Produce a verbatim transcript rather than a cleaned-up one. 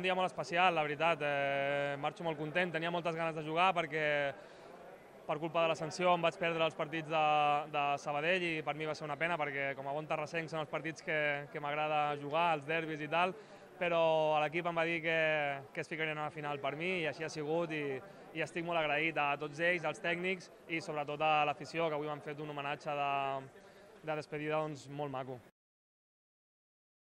dia molt especial, la veritat. Eh, marxo molt content, tenia moltes ganes de jugar perquè per culpa de la sanció em vaig perdre els partits de, de Sabadell i per mi va ser una pena perquè com a bon terrassenc són els partits que, que m'agrada jugar, els derbis i tal, però l'equip em va dir que, que es ficarien a la final per mi i així ha sigut i, i estic molt agraït a tots ells, als tècnics i sobretot a l'afició, que avui m'han fet un homenatge de, de despedida doncs, molt maco.